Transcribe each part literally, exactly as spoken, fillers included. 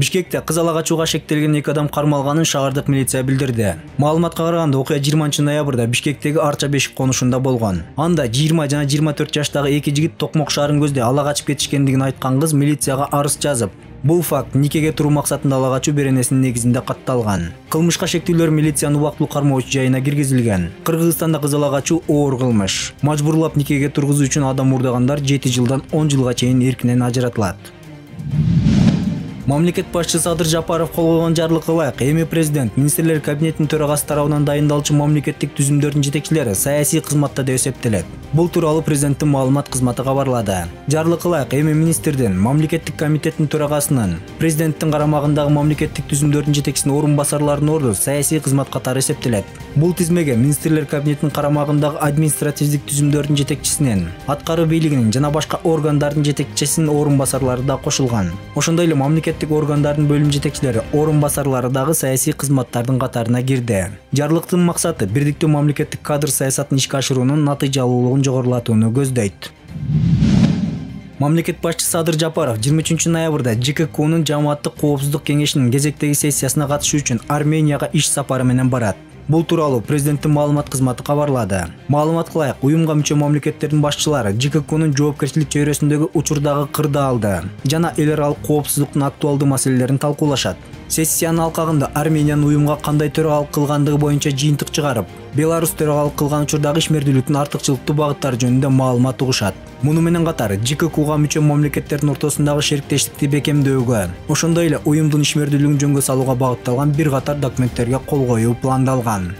Бишкекте кыз ала качууга шектелген эки адам кармалганын шаардык милиция билдирди. Маалыматка караганда окуя жыйырманчы ноябрда Бишкектеги Арча бешик конушунда болгон. Анда жыйырма жана жыйырма төрт жаштагы эки жигит токмок шаарын көздөй ала качып кетишкендигин айткан кыз милицияга арыз жазып, бул факт никеге туруу максатында ала качуу беренесинин негизинде катталган. Кылмышка шектүүлөр милициянын убактылуу кармоочу жайына киргизилген. Кыргызстанда кыз ала качуу оор кылмыш. Мажбурлап никеге тургузуу үчүн адам урдагандар жети жылдан он жылга чейин эркинен ажыратылат. Мамлекет башчысы Садыр Жапаров кол койгон жарлыкка ылайык эми президент министрлер кабинетинин төрагасы тарабынан дайындалчу мамлекеттик түзүмдөрдүн жетекчилери саясий кызматта деп эсептелет. Бул тууралуу президенттин маалымат кызматы кабарлады. Жарлыкка ылайык эми министрдин, мамлекеттик комитеттин төрагасынын, президенттин карамагындагы мамлекеттик түзүмдөрдүн жетекчисинин орун басарларынын орду саясий кызмат катары эсептелет. Бул тизмеге министрлер кабинетинин карамагындагы административдик түзүмдөрдүн жетекчисинин, аткаруу бийлигинин жана башка органдардын жетекчисинин орун басарлары да кошулган. Ошондой эле мамлекеттик органдардын бөлүм жетекчилери, орун басарлары дагы саясий кызматтардын катарына кирди. Жарлыктын максаты бирдиктүү мамлекеттик кадр саясатын ишке ашыруунун натыйжалуулугун жогорулатууну көздөйт. Мамлекет башчысы Садыр Жапаров жыйырма үчүнчү ноябрда ЖККнын жамааттык коопсуздук кеңешинин кезектеги сессиясына катышуу үчүн Арменияга иш сапары менен барат. Бул тууралуу президенттин маалымат кызматы кабарлады. Маалыматка ылайык, уюмга мүчө мамлекеттердин башчылары ЖККнын жоопкерчилик чөйрөсүндөгү учурдагы кырды алды жана эл аралык коопсуздуктун актуалдуу маселелерин талкуулашат. Сессиянын алкагында Армениянын уюмга кандай төрагалык кылгандыгы боюнча жыйынтык чыгарып, Беларусь төрагалык кылган учурдагы ишмердүүлүктүн артыкчылыктуу багыттары жөнүндө маалымат угушат. Муну менен катар ЖККга мүчө мамлекеттердин ортосундагы шериктештикти бекемдөөгө, ошондой эле уюмдун ишмердүүлүгүн жөнгө салууга багытталган бир катар документтерге кол коюу пландалган.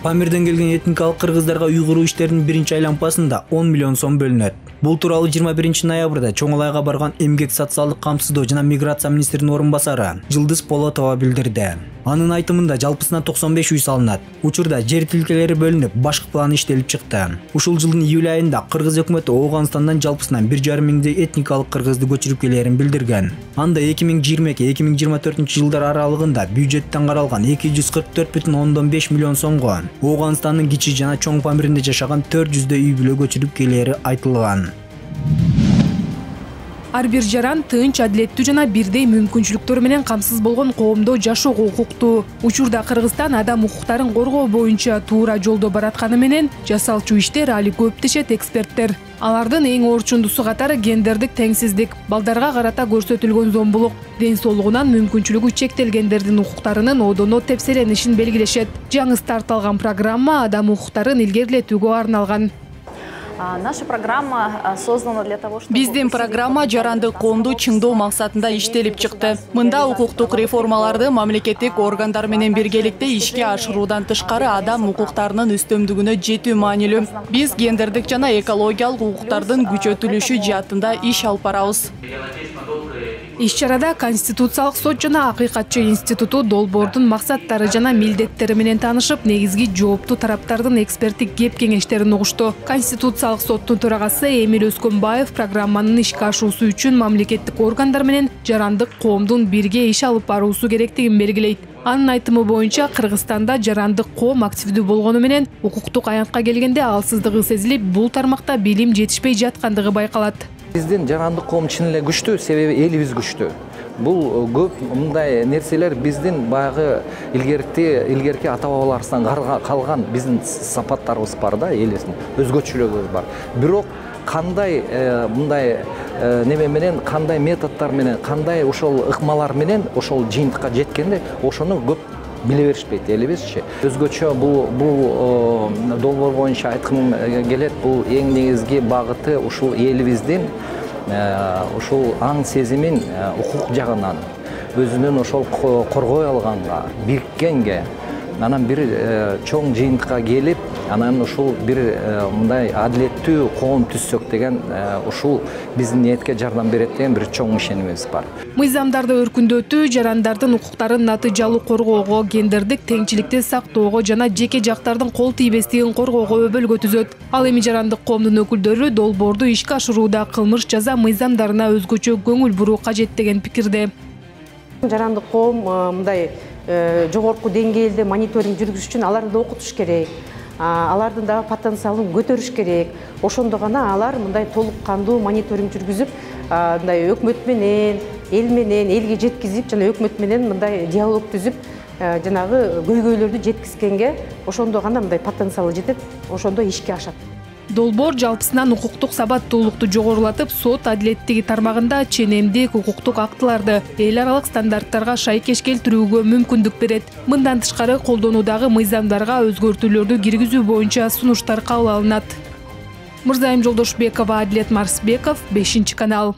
Памирден келген этникалык кыргыздарга уйгуруу иштеринин биринчи айлампасында он миллион сом бөлүнөт. Бул тууралуу жыйырма биринчи ноябрда Чоң Алайга барган эмгек социалдык камсыздоо жана миграция министринин орун басары Жылдыз Полотова билдирди. Анын айтымында жалпысынан токсон беш үй салынат. Учурда жер тилкелери бөлүнүп, башкы план иштелип чыкты. Ушул жылдын июль айында Кыргыз өкмөтү Ооганстандан жалпысынан бир жарым миңдей этникалык кыргызды көчүрүп келерин билдирген. Анда эки миң жыйырма эки эки миң жыйырма төртүнчү жылдар аралыгында бюджеттен каралган эки жүз кырк төрт бүтүн ондон беш миллион сомго Ооганстандын Кичи жана Чоң Памиринде жашаган төрт жүздөй үй бүлө көчүрүп келери айтылган. Ар бир жаран тынч, адилеттүү жана бирдей мүмкүнчүлүктөр менен камсыз болгон коомдо жашоого укуктуу. Учурда Кыргызстан адам укуктарын коргоо боюнча туура жолдо баратканы менен жасалчу иштер али көп дешет эксперттер. Алардын эң орчундусу катары гендердик теңсиздик, балдарга карата көрсөтүлгөн зомбулук, ден соолугунан мүмкүнчүлүгү чектелгендердин укуктарынын одоно тепселенишин белгилешет. Жаңы старт алган программа адам укуктарын илгерилетүүгө арналган. Наша программа создана для того, чтобы... Биздин программа жарандык коомду чыңдоо максатында иштелип чыкты. Мында укуктук реформаларды мамлекеттик органдар менен биргеликте ишке ашыруудан тышкары адам укуктарынын үстөмдүгүнө жетүү маанилүү. Биз гендердик жана экологиялык укуктардын күчөтүлүшү жаатында иш алып барабыз. Иш-чарада Конституциялык сот жана Акыйкатчы институту долбоордун максаттары жана милдеттери менен таанышып, негизги жооптуу тараптардын эксперттик кеп-кеңештерин угушту. Конституциялык соттун төрагасы Эмил Өскөнбаев программанын ишке ашуусу үчүн мамлекеттик органдар менен жарандык коомдун бирге иш алып баруусу керектигин белгилейт. Анын айтымы боюнча Кыргызстанда жарандык коом активдүү болгону менен укуктук аянтка келгенде алсыздыгы сезилип, бул тармакта билим жетишпей жаткандыгы байкалат. Биздин жарандык коом чын эле күчтүү, себеби элибиз күчтүү. Бул көп мындай нерселер биздин баягы илгерки илгерки ата-бабаларыбыздан калган биздин сапаттарыбыз бар да, элибиздин өзгөчөлүгүбүз бар. Бирок кандай мындай неме менен, кандай методдор менен, кандай ошол ыкмалар менен ошол жыйынтыкка жеткенде ошону көп биле беришпейт элибизчи. Өзгөчө бул бул долбоор боюнча айткым келет, бул эң негизги багыты ушул элибиздин ушул аң сезимин укук жагынан өзүнүн ошол коргой алганга, бириккенге, анан бир чоң жыйынтыкка келип, анан ушул бир мындай адилеттүү коом түзсөк деген ушул биздин ниетке жардам берет деген бир чоң ишенимибиз бар. Мыйзамдарды өркүндөтүү, жарандардын укуктарын натыйжалуу коргоого, гендердик теңчиликти сактоого жана жеке жактардын кол тийбестигин коргоого өбөлгө түзөт. Ал эми жарандык коомдун өкүлдөрү долбоорду ишке ашырууда кылмыш жаза мыйзамдарына өзгөчө көңүл буруу кажет деген пикирде. Жарандык коом мындай жогорку деңгээлде мониторинг жүргүзүш үчүн аларды окутуш керек. Алардын дагы потенциалын көтөрүш керек. Ошондо гана алар мындай толук кандуу мониторинг жүргүзүп, мындай өкмөт менен, эл менен, элге жеткизип, жана өкмөт менен мындай диалог түзүп, жанагы көйгөйлөрдү жеткизгенге ошондо гана мындай потенциалы жетет, ошондо ишке ашат. Долбоор жалпысынан укуктук сабаттуулукту жогорулатып, сот адилеттиги тармагында ченемдик укуктук актыларды эл аралык стандарттарга шайкеш келтирүүгө мүмкүндүк берет. Мындан тышкары колдонуудагы мыйзамдарга өзгөртүүлөрдү киргизүү боюнча сунуштар кабыл алынат. Мырзайым Жолдошбекова, Адилет Марсбеков, бешинчи канал.